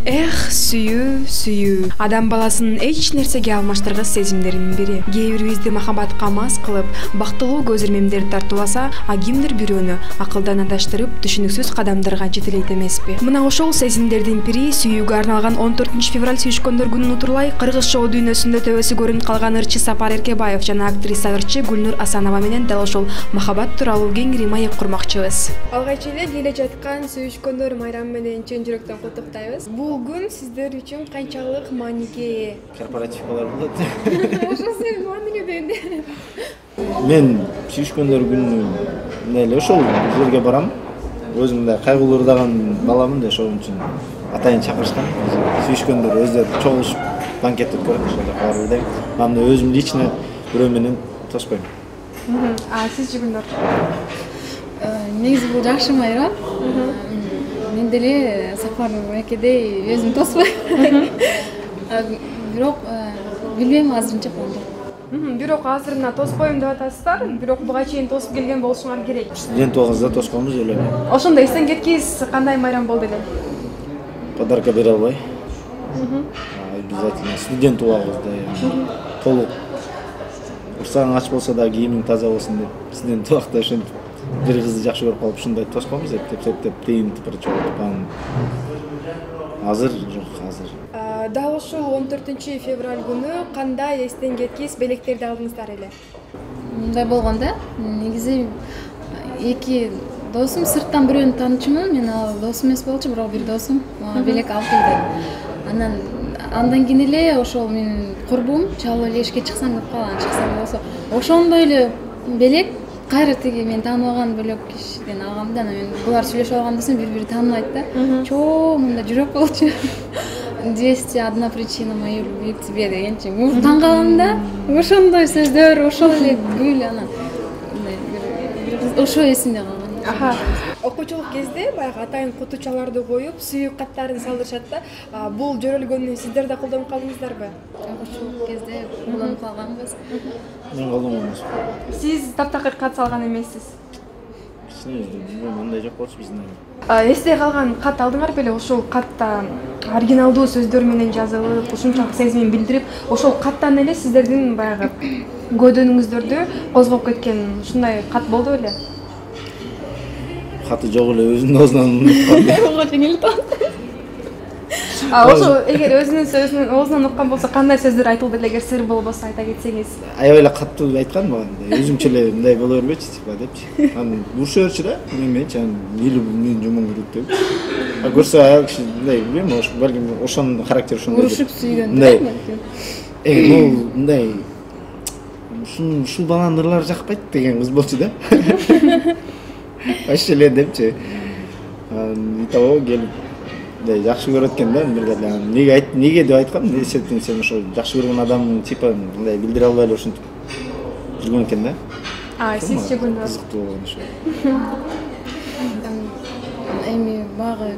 Эх, сүйүү. Адам баласынын эч нерсеге алмаштыргыс сезимдеринин бири. Кээ бирибизди махабатка мас кылып, бактылуу көз ирмемдер тартууласа, а кимдир бирөөнү акылдан адаштырып, түшүнүксүз кадамдарга жетелейт эмеспи? Мына ошол сезимдердин бири сүйүүгө арналган 14 февраль сүйүшкөндөр күнүн утурлай кыргыз шоу дүйнөсүндө төбөсү көрүнүп калган ырчы Сапар Эркебаев жана актриса ырчы Гүлнур Асанова менен дал ошол махабат тууралуу кеңири маек курмакчыбыз. Алгач эле келе жаткан сүйүшкөндөр майрамы менен чын жүрөктөн куттуктайбыз. Бул күн сиздер үчүн канчалык мааниге ээ? Корпоративкалар болот. Ошол сен мааниге дегенде. Мен сүйүшкөндөр күнү эле ошол жерге барам. Өзүм да кайгылуу ырдаган баламын да, ошол үчүн атайын чакырышкан. Сүйүшкөндөр өздөрү чогулушуп банкет өткөрөт, ошол жака барып элдим. Анда өзүм лично бирөө менен тоспойм. А сизчи Гүлнур? Негизи бул жакшы майрам. Мен деле Сапар экедей өзүм тоспойм. Бирок билбейм азырынча кандай. Бирок азырына тоспойм деп атасыздар, бирок буга чейин тосуп келген болушуңар керек. Студент убагыбызда тосконбуз эле. Ошондо эстен кеткис кандай майрам болду эле? Подарка бере албай. Обязательно студент убагыбызда толук урсаң ач болсо да кийимиң таза болсун деп, студент убакта ошентип бир кызды жакшы көрүп калып ушундай тосконбуз деп тыйынтып бир чогултуп анан азыр жок азыр. Дал ушул 14 февраль күнү кандай эстен кеткис белектерди алдыңыздар эле? Мындай болгон да. Негизи эки досум сырттан бирөөнү таанычумун. Мен ал досум эмес болчу, бирок бир досум мага белек алып келди. Андан кийин эле ошол менин курбум чалып эле эшикке чыксаң деп калган. Чыксам болсо ошондой эле белек кайра тиги мен тааныбаган бөлөк кишиден алгам да. Анан мен булар сүйлөшүп алганда десем бири-бири тааныбайт да. Чоо, мында жүрөк болчу. 201 причина моей любви к тебе дегенчи. Таң калам да. Ошондой сөздөр, ошол эле гүл анан ошо эсимде калган. Окуучулук кезде баягы атайын кутучаларды коюп, сүйүү каттарын салдырышат да. Бул жөрөлгөнү сиздер да колдонуп калдыңыздарбы? Окуучулук кезде колдонуп калганбыз. Мен колдонгонмун. Сиз таптакыр кат салган эмессиз. Билбейм, андай жок болчу биздин. Эсте калган кат алдыңар беле? Ошол катта оригиналдуу сөздөр менен жазылып, ушунчалык сезимин билдирип, ошол каттан эле сиздердин баягы көйдөнүңүздөрдү козгоп кеткен ушундай кат болду беле? Каты жок эле өзүнүн оозунан уккан. Ошо эгер өзүнүн сөзүнүн оозунан уккан болсо кандай сөздөр айтылды эле, эгер сыр болбосо айта кетсеңиз? Аябай эле каттуу айткан мага, өзүмчө эле мындай боло бербечи депчи. Анан урушуп берчү да, менчи анан менин жумуң күрүп деп. Көрсө аял киши мындай, билбейм, балким ошонун характери ошондой. Урушуп сүйгөн да балким. Бул мындай ушул баланын ырлары жакпайт деген кыз болчу да. Аш эле депчи. Итого келип жакшы көрөт экен да, бир деле. Неге деп айткам, сен ошо жакшы көргөн адамың типа мындай билдире албай эле ошентип жүргөн экен да. Сизчи Гүлнур? Кызыктуу болгон ошо. Эми багы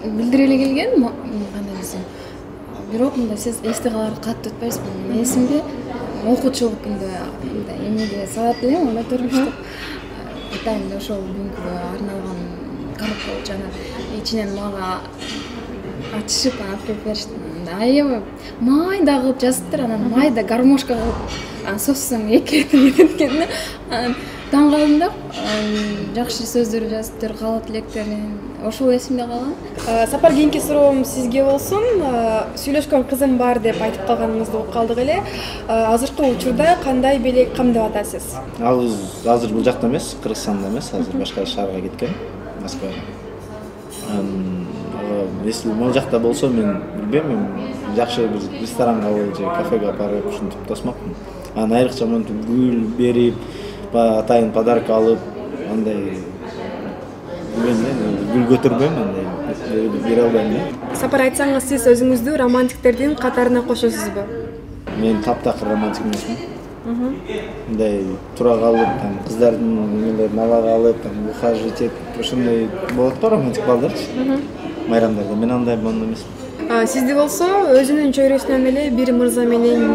билдире эле келген, кандай десем. Бирок мындай эсте калар катты өтпөйсүн. Менин эсимде окуучулук күндө мындай эмеге салат элем, анда төрмүштүк. Атайын ошол күнгө арналган коробка болчу, анан ичинен мага ачышып алып келип беришти. Аябай майда кылып жазыптыр, анан майда гармошка кылып соссоң эки кетет экен да. Анан таң калдым да. Жакшы сөздөр жазыптыр, каалоо тилектерин. Ошол эсимде калган. Сапар, кийинки суроом сизге болсун. Сүйлөшкөн кызым бар деп айтып калганыңызды угуп калдык эле. Азыркы учурда кандай белек камдап атасыз? Ал азыр бул жакта эмес, Кыргызстанда эмес, азыр башка шаарга кеткен, Москвага. Если могу жакта болсо, мен билбейм, жакшы бир ресторанга же кафеге апарып ушинтип тосмокмун. Анан айрыкча монтип гүл берип, атайын подарка алып, андай гүл көтөрбөйм, андай бере албайм да. Сапар, айтсаңыз, сиз өзүңүздү романтиктердин катарына кошосузбу? Мен таптакыр романтик эмесмин. Мындай тура калып, кыздардын малага алып, ухаживать этип, ошондой болот го романтик балдарчы. Майрамдарда мен андай болмон эмесмин. Сизди болсо өзүнүн чөйрөсүнөн эле бир мырза менен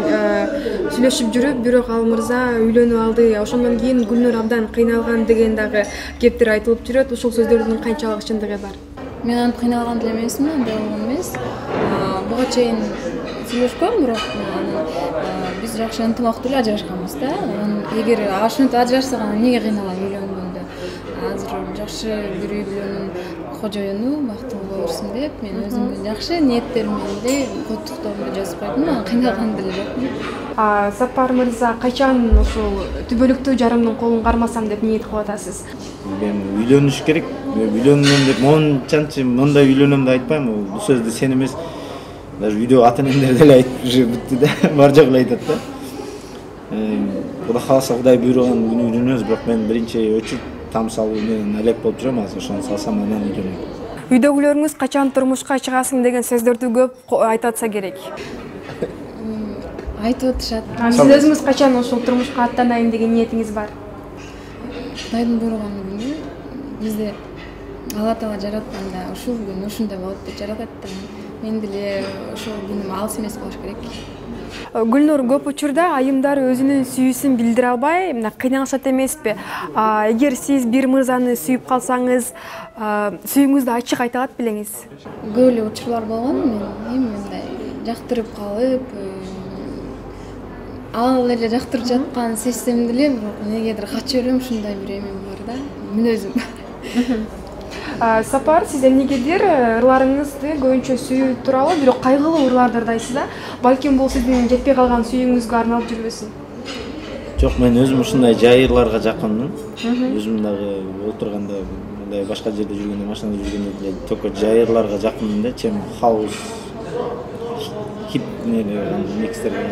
сүйлөшүп жүрүп, бирок ал мырза үйлөнүп алды. Ошондон кийин Гүлнур абдан кыйналган деген дагы кептер айтылып жүрөт. Ушул сөздөрдүн канчалык чындыгы бар? мен антип кыйналган деле эмесмин, андай болгон эмес. Буга чейин сүйлөшкөм, бирок биз жакшы ынтымактуу эле ажырашканбыз да. Эгер ошентип ажырашсак эмнеге кыйналам үйлөнгөндө? Азыр жакшы бир үй бүлөнүн кожоюну, бактылуу боло берсин деп, мен өзүмдүн жакшы ниеттерим менен эле коттуктоомду жазып койдум, анан кыйналган деле жокмун. Сапар мырза, качан ушул түбөлүктүү жарымдын колун кармасам деп ниет кылып атасыз? Мен үйлөнүш керек. Үйлөнөм деп мончанчы мындай үйлөнөм деп айтпайм. Бул сөздү сен эмес. Даже үйдө ата-энелер деле айтып бүтү да. Бар жок эле айтат да. Кудай кааласа Кудай буйруган күнү үйлөнөбүз, бирок мен биринчи өчүр там салуу менен алек болуп жүрөм азыр. Ошону салсам анан үйлөнөм. Үйдөгүлөрүңүз качан турмушка чыгасың деген сөздөрдү көп айтып атса керек. Айтып атышат. Сиз өзүңүз качан ушул турмушка аттанайын деген ниетиңиз бар? Кудайдын буйруган күнү бизди Алла Таала жаратканда ушул күн ушундай болот деп жаратат да. Мен деле ошол күнүм алыс эмес болуш керек. Гүлнур, көп учурда айымдар өзүнүн сүйүүсүн билдире албай, кыйналышат эмеспи? Эгер сиз бир мырзаны сүйүп калсаңыз, сүйүүңүздү ачык айта алат белеңиз? Көп эле учурлар болгон, мен эми мындай жактырып калып, ал эле жактырып жатканын сезсем деле, бирок негедир качып элем, ушундай бир эмем бар да, мүнөзүм. Сапар, сиз эмнегедир ырларыңызды көбүнчө сүйүү тууралуу, бирок кайгылуу ырларды ырдайсыз да? Балким бул сиздин жетпей калган сүйүүңүзгө арналып жүрбөсүн? Жок, мен өзүм ушундай жай ырларга жакынмын. Өзүм дагы отурганда, мындай башка жерде жүргөндө, машинада жүргөндө деле только жай ырларга жакынмын да, чем хаус, хип микстерге.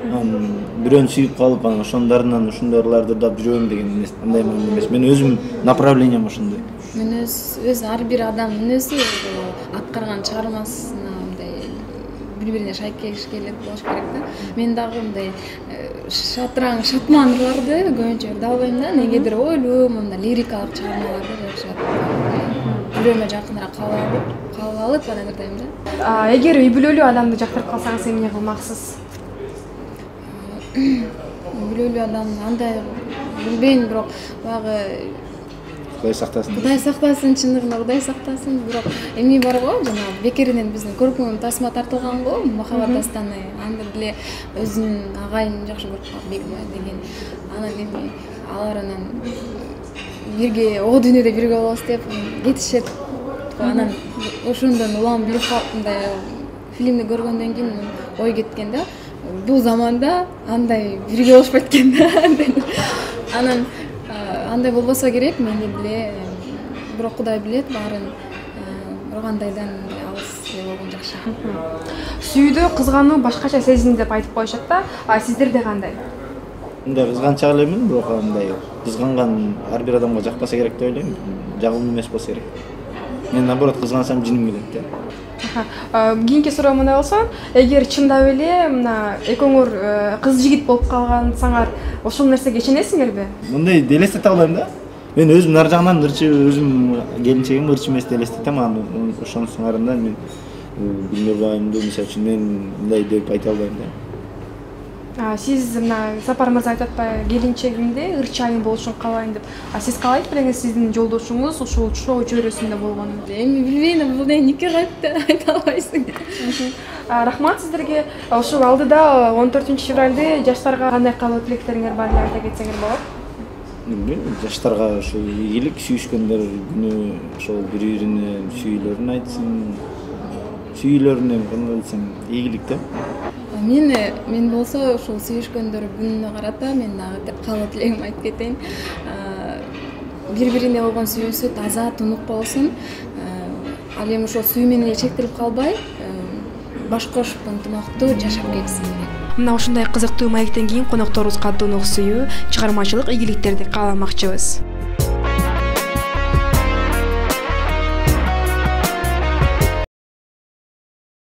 Бирөөнү сүйүп калып, анан ошондорунан ушундай ырларды ырдап жүрөм деген эмес, андай эмес. Мен өзүм направлением ошондой. Өз ар бир адам мүнөзү аткарган чыгармасына мындай бири-бирине шайкелик болуш керек да. Мен дагы мындай шатраң, шатман ырларды көбүнчө ырдап албайм да. Негедир ойлуу, мындай лирикалык чыгармаларды жакшы жүрөмө жакыныраак кабыл алып анан ырдайм да. Эгер үй бүлөлүү адамды жактырып калсаңыз эмне кылмаксыз? Үй бүлөлүү адам андай билбейм, бирок баягы Кудай сактасын. Кудай сактасын, чындыгында Кудай сактасын. Бирок эми бар го, жана бекеринен биздин көркөм тасма тартылган го, махаббат дастаны. Анда деле өзүнүн агайын жакшы көрүп калып Бегмай деген. Анан эми алар анан бирге о дүйнөдө бирге болобуз деп кетишет. Анан ошондон улам билип калып, мындай фильмди көргөндөн кийин ой кеткен да. Бул заманда андай бирге болушпайт экен да. Анан андай болбосо керек, мен деле бирок Кудай билет баарын. Бирок андайдан алыс болгон жакшы. Сүйүүдө кызгануу башкача сезим деп айтып коюшат да. Сиздерде кандай? Мындай кызганчак элемин, бирок андай кызганган ар бир адамга жакпаса керек деп ойлойм. Жагымдуу эмес болсо керек. Мен наоборот кызгансам жиним келет да. Кийинки суроо мындай болсо, эгер чындап эле мына экөөңөр кыз жигит болуп калгансаңар, ошол нерсеге ишенесиңерби? Мындай элестете албайм да. Мен өзүм нар жагынан ырчы, өзүм келинчегим ырчы эмес деп элестетем, анан ошонун соңарында мен Гүлнур айымды мисалы үчүн мен мындай деп айта албайм да. Сиз мына Сапар мырза айтып атпайбы, келинчегимди ырчы айым болушун каалайм деп. Сиз каалайт белеңиз сиздин жолдошуңуз ушул шоу чөйрөсүндө болгонун? Эми билбейм, бул нике кайт деп айта албайсың. Рахмат сиздерге. Ушул алдыда 14-февралды жаштарга кандай каалоо тилектериңер бар эле айта кетсеңер болот? Жаштарга ошол ийгилик, сүйүшкөндөр күнү ошол бири-бирине сүйүүлөрүн айтсын. Сүйүүлөрүнө кандай десем, ийгилик да. Мен болсо ушул сүйүшкөндөр күнүнө карата мен дагы каалоо тилегимди айтып кетейин. Бири-бирине болгон сүйүүсү таза, тунук болсун. Ал эми ошол сүйүү менен эле чектелип калбай, баш кошуп ынтымактуу жашап кетсин. Мына ушундай кызыктуу маектен кийин конокторубузга тунук сүйүү, чыгармачылык ийгиликтерди кааламакчыбыз.